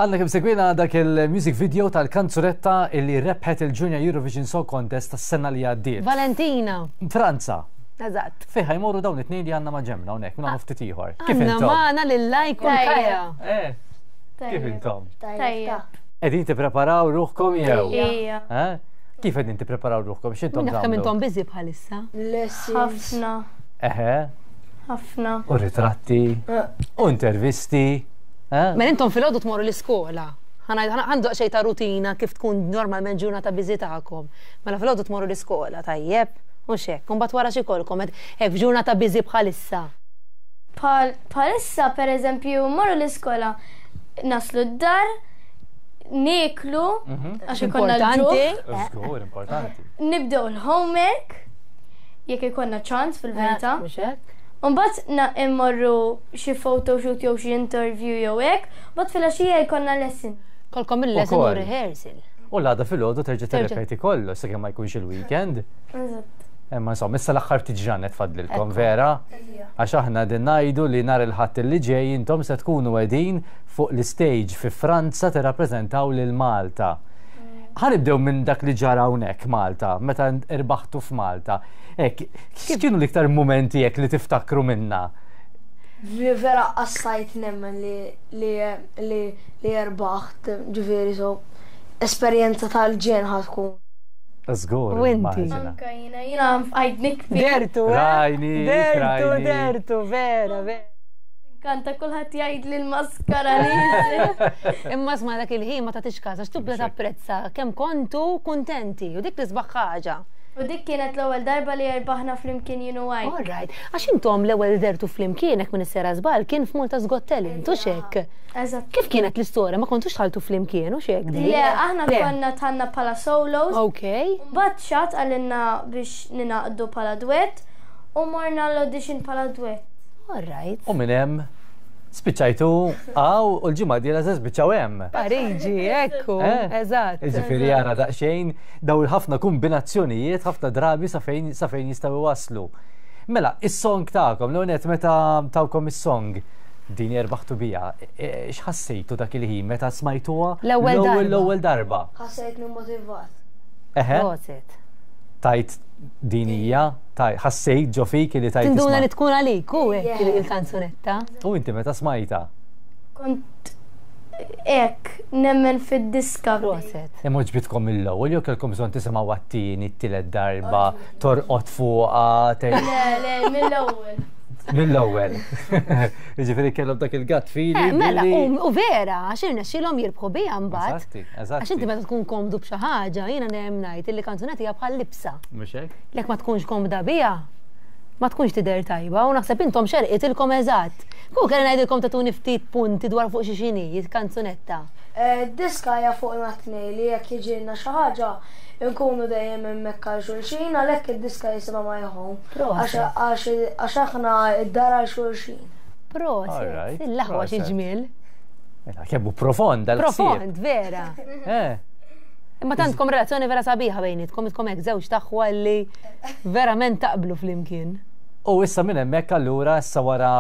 Għandna kemm segwina dak il-music video tal-kanzunetta illi rebħet il-Junior Eurovision Song Contest tas-sena li għaddiet. Valentina. Franza. Eżatt. Fejn ħajmorru dawn it-tnejn li għandna ma' ġemna hawnhekk minn hawn ftit ieħor. Kif intom? Magħna lil Lajk u Kaja. Eh. Kif intom? Tajjeb. Qegħdin tippreparaw ruħkom jew? Ija. Eh? Kif qegħdin tippreparaw ruħkom? X'intom Naf kemm intom busy bħalissa. Ħafna. Eħe. Ħafna. U ritratti. Eh. U intervisti. Eh? Mela intom filgħodu tmorru l-iskola. Għandu xejn ta' rutina kif tkun normalment ġurnata biżi tagħkom. Mela filgħodu tmorru l-iskola, tajjeb? Mhux hekk. Imbagħad wara xi jkollkom hekk f'ġurnata biżi bħalissa. Bħalissa pereżempju mmorru l-iskola naslu d-dar, nieklu, mhm. għax ikollna l-ġuħ. Żgur, importanti. Nibdew l-homework, jekk ikollna ċans fil-verità. Eh, mhux hekk? Mbagħad immorru xi photoshoot jew xi interview jew hekk, mbagħad filgħaxija jkollna lesson. Kolkom il-lesson u rehearsal. U l-għada filgħodu terġa' tirrepeti kollox sakemm ma jkunx il-weekend. Eżatt. Imma insomma, issa l-aħħar ftit ġranet fadlilkom, vera? Għax aħna din ngħidu li nhar il-Ħadd li ġej intom se tkunu qegħdin fuq l-istage fi Franza tirrappreżentaw lil Malta. Ħa nibdew minn dak li ġara hawnhekk Malta, meta irbaħtu f'Malta. Hekk, x'kienu l-iktar mumenti hekk li tiftakru minna? Li vera qassajt nemmen li li li li rbaħt, ġifieri so esperjenza tal-ġenn ħa tkun. Żgur. U inti? Anka jiena, jiena bqajt nikbi. Dertu, eh? Rajni, Dertu, rajni. dertu, vera, vera. Kanta kulħadd jgħid li l-maskara li. Imma sma dak il-ħin ma tagħtix każ għax tibda tapprezza kemm kontu kuntenti u dik l-isbaħ ħaġa. U dik kienet l-ewwel darba li rbaħna flimkien jien u għaj. All right. Għax intom l-ewwel dertu flimkien hekk minn sera żball kien f'Malta's Got Talent u xek. Eżatt. Kif kienet l-istorja? Ma kontux tħaltu flimkien u xek di? Le, aħna konna tħanna bħala solos. Ok. Mbagħad xat għalinna biex ninaqdu bħala duett u morna l-audition bħala duett. All right. U minn hemm spiċċajtu għaw u l-ġimgħa dieħla se spiċċaw hemm. Pariġi, ekku, Eh? eżatt. Ġifieri jara daqsxejn daw il-ħafna kombinazzjonijiet ħafna drabi sa fejn sa fejn jistgħu waslu. Mela, is-song tagħkom, l net meta tawkom is-song din erbaħtu bija, e, x'ħassejtu dak il-ħin meta smajtuha L-ewwel darba. l-ewwel darba? Ħassejtni motivat. Eħe, Proset. tajt din hija, tajt ħassejt ġo fik li tajt. Tinduna isma' li tkun għalik u hekk Yeah. il-kanzunetta. U inti meta smajta? Kont hekk nemmen fid-diska. Proset. Imma ġbitkom mill-ewwel jew kellkom bżonn tisimgħu għat-tieni, t-tielet darba, torqod fuqha, tgħid Le, le, mill-ewwel. mill-ewwel. Jiġifieri kellhom dak il-gut feeling. Eh, mela, li- u u vera, għax irnexxielhom jirbħu biha mbagħad. Eżatti, eżatti. Għax inti meta tkun komdu b'xi ħaġa, jiena dejjem ngħid illi kanzunetta hija bħal libsa. Mhux hekk? Lek ma tkunx komda biha, ma tkunx tidher tajba u naħseb intom xerqitilkom eżatt. Ku kelli ngħidilkom tagħtuni ftit punti dwar fuq xi xini, kanzunetta. Eh, Diska hija fuq tnej li jekk jiġilna xi ħaġa nkunu dejjem hemmhekk għal xulxin għalhekk id-diska jisimha My Home. Proset. Għax għax aħna id-dar għal xulxin. Proset, Alright, il-laħwa xi proset. ġmiel. Mela, kemm hu profond dal-ħsieb. Profond, vera. Eh, Imma tantkom relazzjoni vera sabiħa bejnietkom, intkom hekk żewġ taħwa li verament taqblu flimkien. U issa minn hemmhekk allura issa wara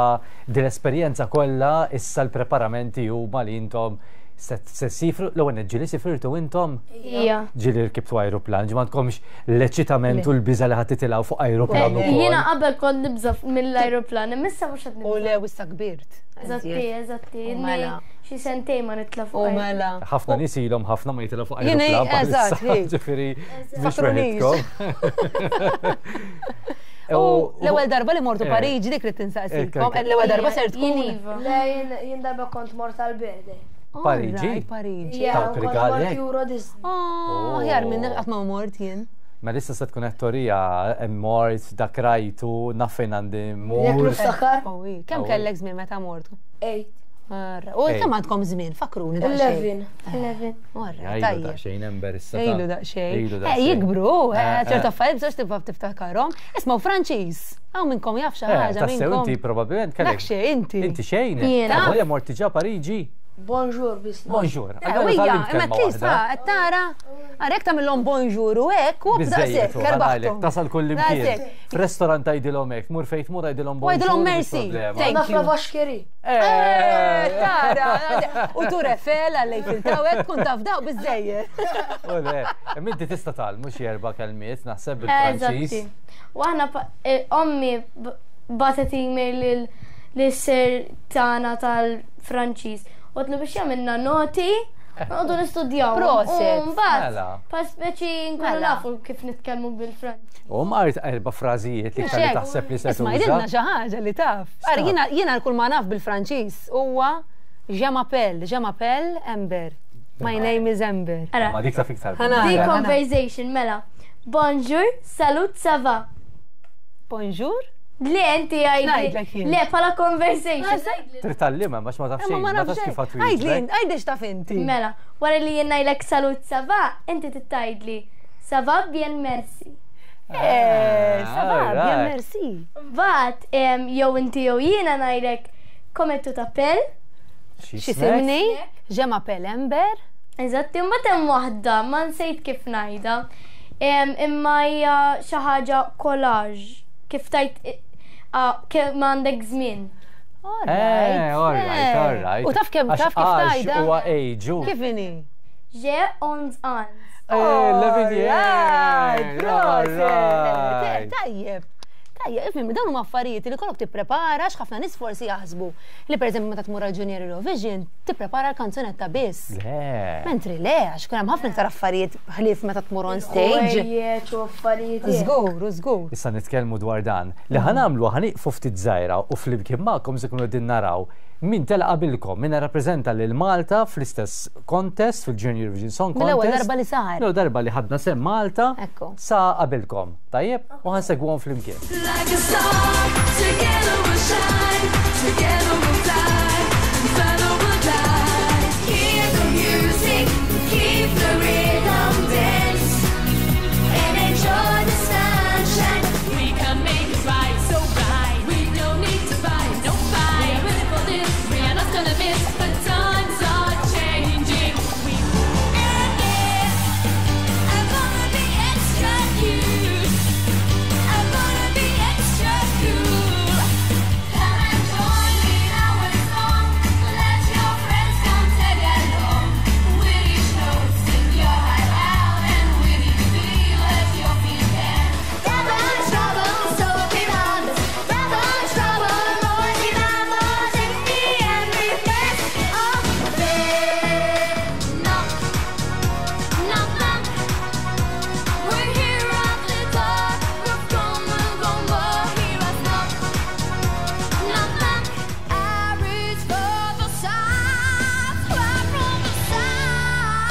din l-esperjenza kollha issa l-preparamenti huma li intom se se sifru l-ewwel nett ġieli sifirtu intom Ija. ġieli rkibtu ajruplan, ġi m'għandkomx l-eċitament u l-biża li ħadd titilgħu fuq ajruplan ukoll. Jiena qabel kont nibża mill-ajruplan, imma issa mhux qed U nibża. le, issa kbirt. Eżatti, eżatti. U mela. Xi sentejn ma nitla' fuq. U ajruplan. mela. ħafna nies ilhom ħafna ma jitilgħu fuq Jiena, ajruplan eżatt, bħalissa, hi. ġifieri mhux Fakrunix. weħidkom. U l-ewwel darba li mortu Eh. Pariġi dik li tinsaqsikom, Eh, l-ewwel darba ser Jien tkun. iva. Le jien jien darba kont mort għal-birthday. Pariġi? Alright, Pariġi. Yeah, Tawk kont rigali mort hekk? Euro Disney. Oh, aħjar minn qatt ma mort jien. Ma issa se tkun qed torija hemm mort dak rajtu naf fejn għandi Jekk mur. niftakar, Oh, i. Kemm Oh, i. kellek żmien meta mort? 8, Arra. U Ej. kemm għandkom żmien, fakruni daqsxejn. 11. 11. Alright, Jgħidu tajjeb. daqsxejn ember issa. ta' Ejlu daqsxejn. Ejlu Eh, daqsxejn. jikbru, eh, Eh, ċertu eh. affarijiet bżonx tibqa' tiftakarhom. Ismaw Franċiż. Hawn minnkom jaf xi Eh, ħaġa tassew minnkom. inti probabbilment kellek. Dak xejn inti. Inti xejn. Jiena. Volja morti ġa Pariġi. Bonjour, bisna. Bonjour. Eh, Allora Ija, tgħallimt imma kelma at least waħda. ha, qed tara. Ara jekk tagħmilhom bonjour u hekk u Biżżejjed, daqshekk, u ħanajlek, erbaħthom. tasal kull imkien. Daqshekk. F'restorant tgħidilhom hekk, tmur fejn tmur għidilhom U bonjour. għidilhom mhux merci. problema. Thank Naf you. la vaxkeri. Tara, u Tour Eiffel għal Eiffel Tower, tkun taf daw biżżejjed. U le, imma inti tista' tgħallmu xi erba' kelmiet naħseb bil-Franċiż. Eżatti. U aħna ommi bagħtet email lil-sir tagħna tal-Franċiż. U għedtlu biex jagħmilna noti, noqogħdu nistudjaw. Proset. U mbagħad Mela. pa speċi nkunu Mela. nafu kif nitkellmu bil-Franċiż. U mqart erba' frażijiet li iktar li taħseb li se Isma' tuża. jidilna xi ħaġa li taf. Ara jiena kull ma naf bil-Franċiż huwa Je m'appelle, je m'appelle Amber. My name is Amber. Ara, Ma dik taf iktar. Ħana. di Ara, ara. conversation mela. Bonjour, salut, ça va. Bonjour. Le, inti għajdi. Ngħidlek jien. Le, pala conversation. Trid tgħallimha għax ma taf Imma xejn, ma ma nafx tafx kif xejn. Għidli, għatwieġbek. għidli x'taf inti. Mela, wara li jien ngħidlek salut, ça va, inti tgħidli ça va bien merci. Ça va, bien Alright. merci. Mbagħad jew inti jew jiena ngħidlek comment tu t'appelles. X'isimni? Je m'appelle Amber. Eżatt, imma hemm waħda, ma nsejt kif ngħidha. Imma hija xi ħaġa collage, kif tajt kemm għandek żmien. All right, all right. U taf kemm Għax taf kif age tgħidha? Huwa age. Kif inhi? J'ai 11 ans. 11 years. Alright, proset. Alright. Tajjeb. Tajjeb, ifhem, dawn huma affarijiet li kollok tipprepara għax ħafna nies forsi jaħsbu li pereżempju meta tmur għal Junior Eurovision tipprepara l-kanzunetta biss. Le. Mentri le, għax kun hemm ħafna iktar affarijiet ħlief meta tmur on stage. Ħwejjeġ u affarijiet. Żgur, u żgur. Issa nitkellmu dwar dan. Li ħa nagħmlu ħa nieqfu ftit żgħira u flimkien magħkom se kunu qegħdin naraw min tela' qabilkom, min rappreżenta lil Malta fl-istess contest fil-Junior Eurovision Song Contest. Mill-ewwel darba li sar. L-ewwel darba li ħadna sehem Malta Ekku. sa qabilkom. Tajjeb, u ħa nsegwuhom flimkien. Like a star, together we'll shine, together we'll fly, and further we'll glide. Hear the music, keep the rhythm, dance, and enjoy the sunshine. We can make it right, so right. We don't need to fight, no fight. We are ready for this, we are not gonna miss. The times are changing. We And yes, I'm gonna be extra cute. I'm gonna be extra cool. Come and join me in our song. Let your friends come tag along. With each note, sing your heart out, and with each beat, let your feet dance. Double trouble, so vivamos. Double trouble, more vivamos. In the end, we best of it. Knock, knock, knock. We're here at the door. We've come, we've gone, but hear us knock, knock, knock. I reach for the stars, right from the start.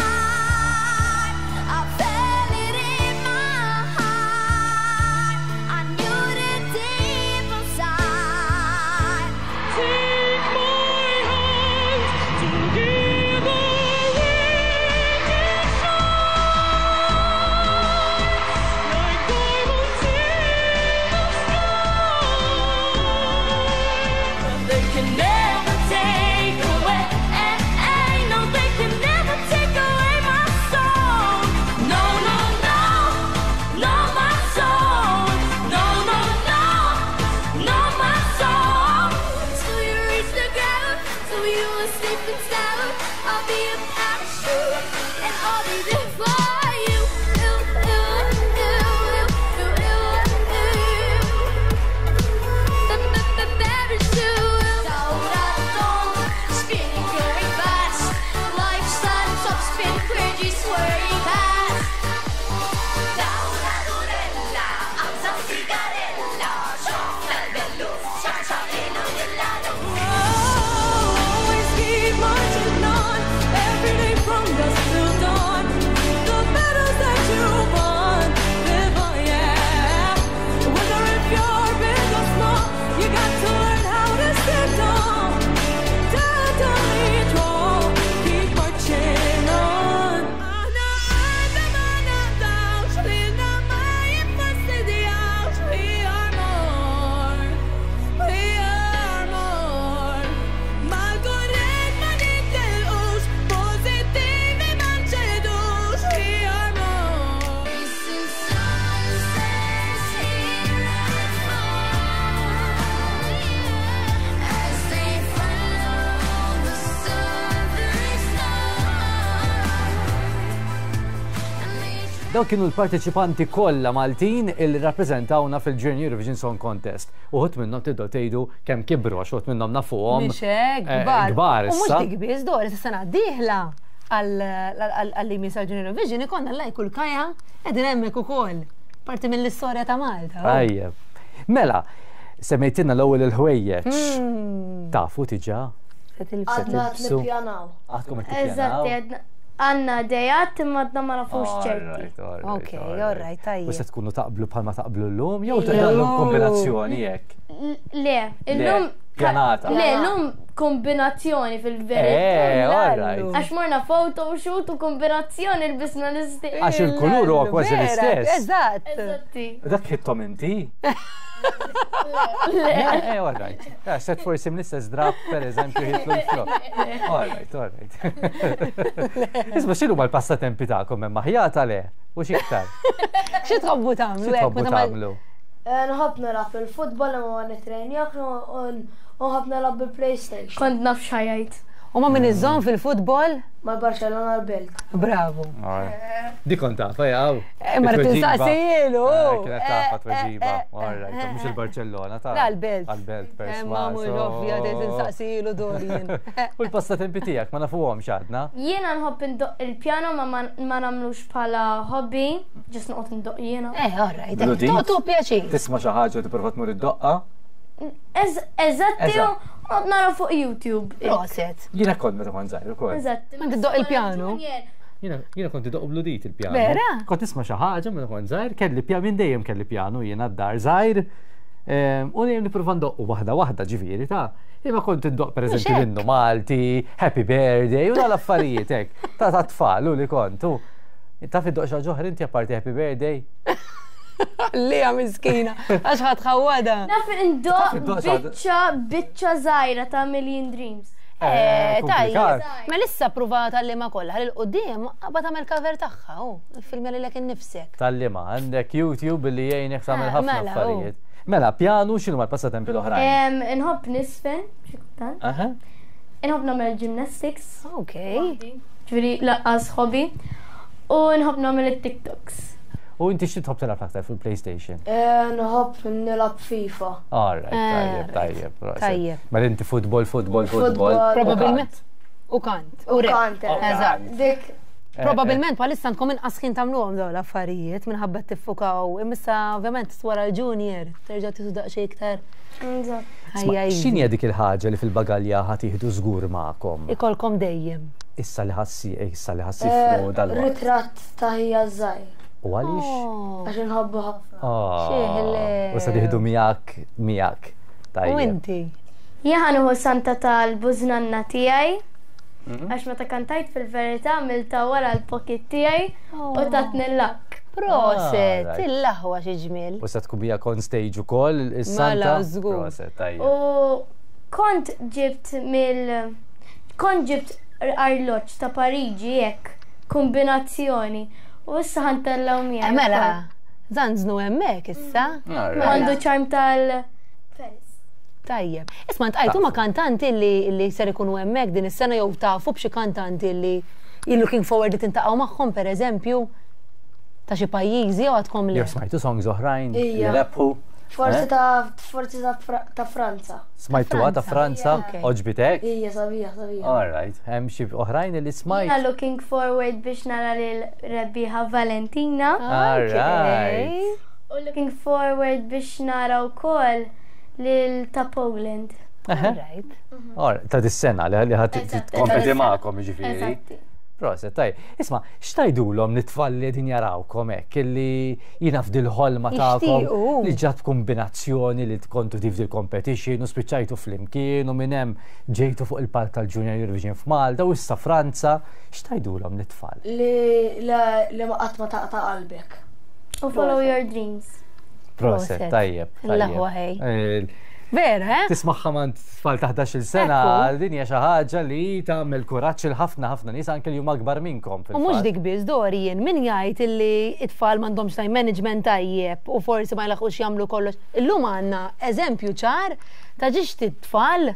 I felt it in my heart. I knew it deep inside. Take my hand, together we can shine like diamonds in the sky. But they can never take away, no, they can never take away my soul. No, no, no, not my soul. No, no, no, not my soul. Till you reach the ground, till you are safe and sound. I'll be a parachute, and I'll be there for you. Ooh, ooh, ooh, ooh, ooh, ooh. Parachute. Spinning very fast. Lifestyle top spin, cringy, swearing past. Always keep marching on every day from dusk Dawk kienu l-parteċipanti kollha Maltin illi rrappreżentawna fil-Junior Eurovision Song Contest. Uħud minnhom tibdew tgħidu kemm kibru għax uħud minnhom nafuhom. Mhix hekk, eh, kbar. Kbar U mhux issa. dik biss, Doris, is-sena d-dieħla għall-li għal Junior Eurovision ikollna l-lajk u l-kaja qegħdin hemmhekk ukoll. Parti mill-istorja ta' Malta. Tajjeb. Mela, semmejtilna l-ewwel il-ħwejjeġ. Tafu diġà? Se tilbsu. Għadna qed tilbsu. nippjanaw. Għadkom qed tippjanaw? Eżatti, għadna għandna idejat imma għadna ma nafux ċerti. Alright, alright, Ok, alright, tajjeb. U se tkunu taqblu bħalma taqblu llum jew taqblu kombinazzjoni hekk? Le, illum. pjanata. Le, illum kombinazzjoni fil-verità. Eh, alright. Għax morna photoshoot u kombinazzjoni lbisna l-istess. Għax il-kulur huwa kważi Vera, l-istess. Eżatt. Eżatti. Dak ħittom inti? Le. Eh, all right. Eh, Set forsi mill-istess drab, per eżempju, ħitlu l-flok. All right, all right. Isma, x'inhu mal-passatempi tagħkom hemm aħjata le? U x'iktar? Xi tħobbu tagħmlu? Xi hekk, tħobbu meta ma- tagħmlu? Eh, Nħobb nilgħab il-futbol imma ma nitrenjax u nħobb nilgħab bil-PlayStation. Kont naf xajajt. U ma min iżżomm fil-futbol? Mal-Barcelona l-Belt. Bravo. Di kont tafa, jaw. Eh, ma rrid insaqsilu. Eh, Kienet tafa Eh, tweġiba. eh, All right, mhux il-Barcellona ta' La, l-Belt. Għal-Belt, Eh, Ma mhux ovvja trid insaqsilu Dorian. U l-passatempi tiegħek ma nafuhomx għadna. Jiena nħobb indoq il-pjano ma ma nagħmlux bħala hobby, ġis noqgħod indoq jiena. Eh, all right. Bludit? Tu pjaċir. Tisma' xi ħaġa u tipprova tmur id-doqqa. Eżatti, Eżatt. u noqgħod nara fuq YouTube. Proset. Jiena kont meta kont żgħir ukoll. Eżatti. Ma tiddoq il-pjano? Jiena jiena kont idoq bludit il-pjano. Vera? Kont nisma' xi ħaġa meta kont żgħir, kelli pjano minn dejjem kelli pjano jiena d-dar żgħir. Ehm, U dejjem nipprova ndoqqu waħda waħda ġifieri ta' Imma kont indoq pereżempju hekk. l-innu Malti, Happy Birthday u dal-affarijiet hekk. Ta' ta' tfal u li kont. u Taf iddoq xi ħaġa oħra inti apparti Happy Birthday? Lija miskina, għax ħadd ħawada. Naf indoq Taf indoq xi ħaġa- biċċa biċċa żgħira ta' Million Dreams. Eh, tajjeb. komplikat. Ma lissa prova tal-lima kollha, ħalli l-qudiem qabad tagħmel cover tagħha, u filmja lilek innifsek. Tal-lima, għandek YouTube li jgħinek tagħmel Eh, ħafna mela, u. affarijiet. Mela, pjanu x'inhu mal-passatempi l-oħrajn? Em, Inħobb nisfen, xi kultant. Aha. Inħobb nagħmel gymnastics, Ok. ġifieri laqqas hobby. U nħobb nagħmel it-TikToks. U inti xi tħobb tilgħab aktar fil-PlayStation? Eh, Nħobb nilgħab FIFA. All right, tajjeb, Eh, tajjeb. proset. Tajjeb. Mela inti futbol, futbol, futbol. Futbol. Probabilment. U kant. U rap. Kant, eh. Eżatt. Dik Eh, Probabilment bħalissa għandkom inqas ħin tagħmluhom dawn l-affarijiet minħabba tiffukaw. Imissa ovvjament wara l-junior terġa' tisu daqsxejn iktar. Eżatt. Ħajja X'inhi dik il-ħaġa li fil-bagalja ħa tieħdu żgur magħkom? Ikolkom dejjem. Issa li ħassi, issa li ħassifru eh, dal-waqt. ritratt ta' ħija żgħir. U għaliex? Oh. Għax inħobbu ħafna. Ah, Xieħle. U se tieħdu miegħek, miegħek. U Tajjeb. inti? Jien ħa nieħu santa tal-bużnanna tiegħi. Għax meta kantajt fil-verità għamilta wara l-pocket tiegħi u tatni l-lak. Proset, Alright. il-laħwa xi ġmiel. U se tkun miegħek on stage ukoll is-santa. Mela, żgur. Proset, tajjeb. U kont ġibt mill kont ġibt arloġġ ta' Pariġi hekk kombinazzjoni u issa ħantellaw miegħi. Eh, Mela, zanznu hemmhekk issa. Alright. Għandu ċarm tal Paris. Tajjeb. Isma' ntqajtu ma' kantanti li li ser ikunu hemmhekk din is-sena jew tafu b'xi kantanti li you looking forward li tintaqgħu magħhom pereżempju ta' xi pajjiżi jew għadkom li. Jew smajtu songs oħrajn li Ija. rebħu. Forsi Eh? ta' forsi ta' Fra- ta' Franza. Smajtuha ta' Franza, Ok. oġbitek? Ija sabiħa sabiħa. All right, hemm xi oħrajn li smajt. Jiena looking forward biex nara lil rebbieħa Valentina All right. u looking forward biex nara wkoll lil ta' Poland. Eħe. Right. All right, ta' dis-sena li li ħadd Eżatt, tkompeti ta' dis-sena. magħkom jiġifieri. Eżatti. Proset, taj. Isma, x'tajdulhom l-tfal li qegħdin jarawkom hekk illi jiena f'dil-ħolma tagħkom Jixtiequ. li ġat kombinazzjoni li tkontu tif dil-competition u spiċċajtu flimkien u minn hemm ġejtu fuq il-palk tal-Junior Eurovision f'Malta u issa Franza, x'tajdulhom l-tfal? Li li- li ma qatt ma taqta' qalbek. U follow your dreams. Proset, Proset. tajjeb. tajjeb. L-aħwa ħej. Eh, Vera, eh? Tismaħħa man tfal ta' 11 sena, Ekku. din hija xi ħaġa li tagħmel kuraġġ il ħafna ħafna nies anke li huma akbar minnkom. U mhux dik biss Dorian, min jgħid illi it-tfal m'għandhomx time management tajjeb u forsi ma jlaħqux jagħmlu kollox. Illum għandna eżempju ċar ta' ġiex it-tfal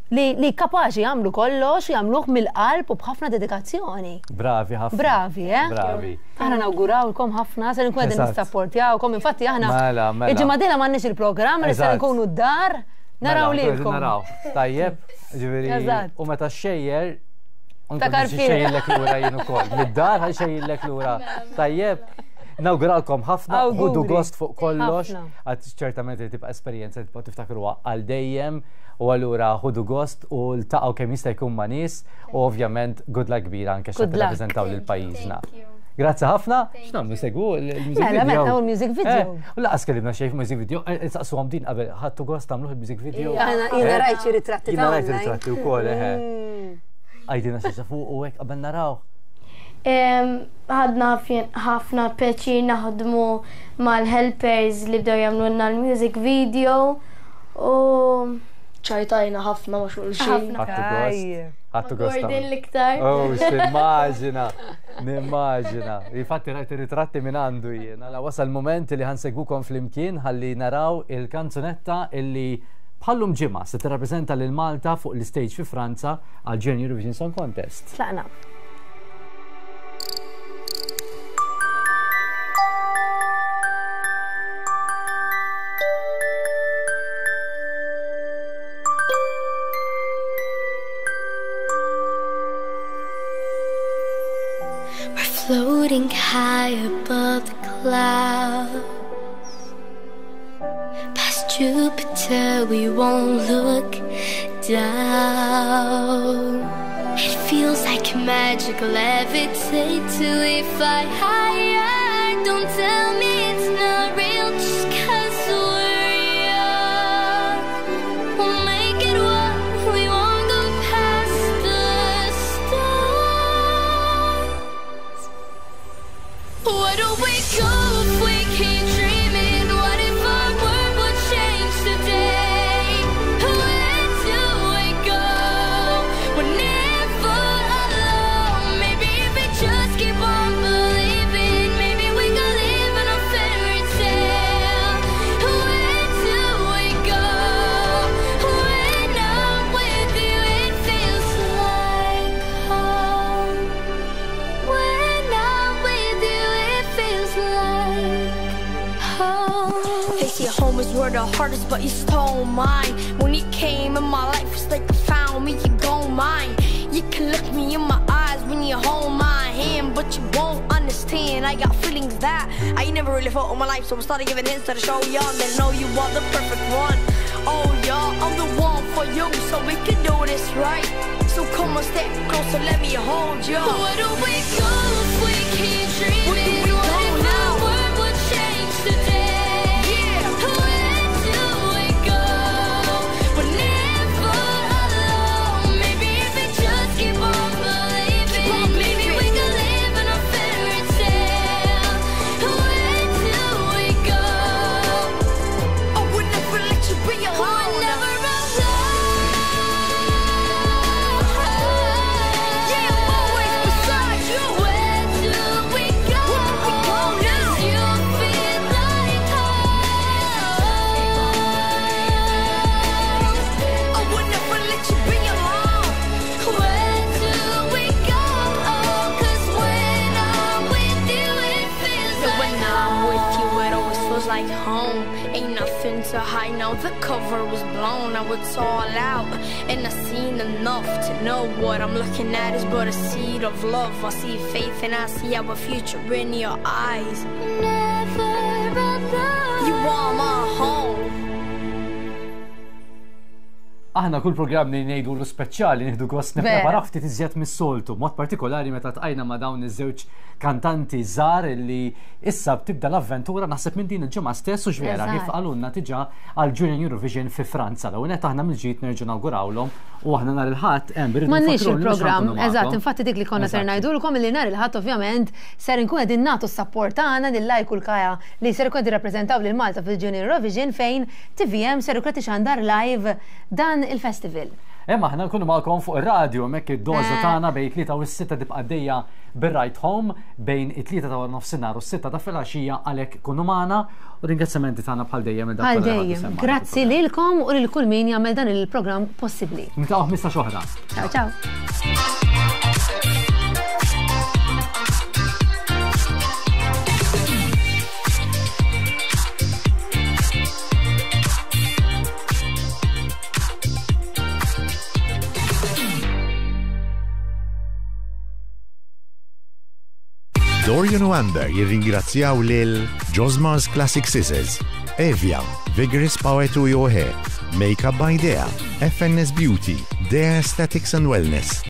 Li, li kapaċi jagħmlu kollox, jagħmluh mill-qalb u b'ħafna dedikazzjoni. Bravi ħafna. Bravi, eh? Bravi. Aħna nawgurawlkom ħafna, ser nkun qegħdin nissapportjawkom, infatti aħna Mela, mela. il-ġimgħa dieħla m'għandniex il-programm li ser Eżatt. nkunu d-dar naraw Mela, lilkom. Naraw. Tajjeb, ġifieri. Eżatt. U meta xejjer, Ta' karfien. Xejjillek lura jien ukoll. Mid-dar ħa xejjillek lura. Tajjeb. Nawguralkom ħafna, ħudu Awguri. gost fuq kollox, Ħafna. għad ċertament li tibqa' esperjenza li tibqa' tiftakruha għal dejjem u allura ħudu gost u ltaqgħu kemm jista' jkun ma' nies u ovvjament good luck kbira anke x'qed Good luck. tirrappreżentaw lil pajjiżna. Thank you. Grazzi ħafna. X'nagħmlu segwu l-music Mela, video. mela, nagħmlu l-music video. Eh, U laqas kellimna xejn music video, saqsuhom din qabel ħadtu gost tagħmluh il-music video. Aħna- jiena Eh, rajt xi ritratti Jiena ta' rajt online. ritratti wkoll, eħe. Għajdina xi fuq u hekk qabel naraw. Ħadna ħafna pjaċir naħdmu mal-helpers li bdew jagħmlulna l-music video u ċajtajna ħafna ma' xulxin. Ħafna. Ħadtu gost. Tajjeb. Ħadtu gost. Gordon tagħmlu. l-iktar. Oh, x'immaġina, nimmaġina. Infatti rajt ir-ritratti minn għandu jien. Għala wasal moment li ħansegwukom flimkien ħalli naraw il-kanzunetta illi bħallum ġimgħa se tirrappreżenta lil Malta fuq l-istage fi Franza għal Junior Eurovision Song Contest. Tlaqna. We're floating high above the clouds. Past Jupiter, we won't look down. It feels like magic levitate till we fly higher. Don't tell me it's not real just 'cause we're young. We'll make it what we won't go past the stars. Where do we go if we keep dreaming? What if our world would change today? Where do we go? We're never alone. Maybe if we just keep on believing, maybe we could live in a fairy tale. Where do we go? When I'm with you, it feels like home. When I'm with you, it feels like home. They say home is where the heart is, but you stole mine. When you came in my life, it's like you found me, you gon' mine. You can look me in my eyes when you hold my hand, but you won't understand. I got feelings that I ain't never really felt in my life, so I started giving hints to the show y'all that know you are the perfect one. Oh y'all, I'm the one for you, so we can do this right. So come on, step closer, let me hold you. Where do we go if we keep Where do dreaming? we What go if now? our world would change today? Yeah. Where do we go? We're never alone. Maybe if we just keep on believing, Keep on maybe we believing. could live in a fairy tale. Where do we go? I would never let you be alone. We're never alone. Yeah, I'm always beside you. Where do we go? Where do we go now? 'Cause you feel like home. I would never let you be alone. Where do we go? 'Cause when I'm with you, it feels Yeah, like when I'm with you, it always feels like home. Ain't nothing to hide now. The cover was blown. Now it's all out, and I seen enough to know what I'm looking at is but a seed of love. I see faith, and I see our future in your eyes. Never alone. You are my home. Aħna kull programm li ngħidu l speċjali nieħdu gost Vera. nippreparaw ftit iżjed mis-soltu, mod partikolari meta tqajna ma' dawn iż-żewġ kantanti żgħar li issa tibda l-avventura naħseb minn din il-ġimgħa stess u x'vera Eżatt. kif qalulna diġà għal Junior Eurovision fi Franza. L-ewwel nett aħna mill-ġid nerġgħu nawgurawlhom u aħna nhar il-Ħadd hemm irridu M'għandniex nfakru li mhux il-programm, ħankunu eżatt, magħkom. infatti dik li konna ser Eżatt. ngħidulkom li nhar il-Ħadd ovvjament ser inkun qegħdin nagħtu s-sapport tagħna lil Lajk u l-Kaja li ser ikun qed jirrappreżentaw lil Malta fil-Junior Eurovision fejn TVM ser ikun qed ixandar live dan il-festival. Imma aħna nkunu magħkom fuq ir-radju hemmhekk id-doża tagħna bejn it-tlieta u s-sitta tibqa' għaddejja bir-Right Home bejn it-tlieta ta' waranofsinhar u s-sitta ta' filgħaxija għalhekk kunu magħna u ringrazzjamenti tagħna bħal dejjem lil dawk Bħal kollha li ħadu dejjem. sehem magħna Grazzi fil-programm. lilkom u lil kull min jagħmel dan il-programm possibbli. Niltaqgħu 15 oħra. Ciao ciao. Dorian u Amber jirringrazzjaw lil Josmar's Classic Scissors, Evia, Vigorous Power to Your Hair, Makeup by Dea, FNS Beauty, Dea Aesthetics and Wellness.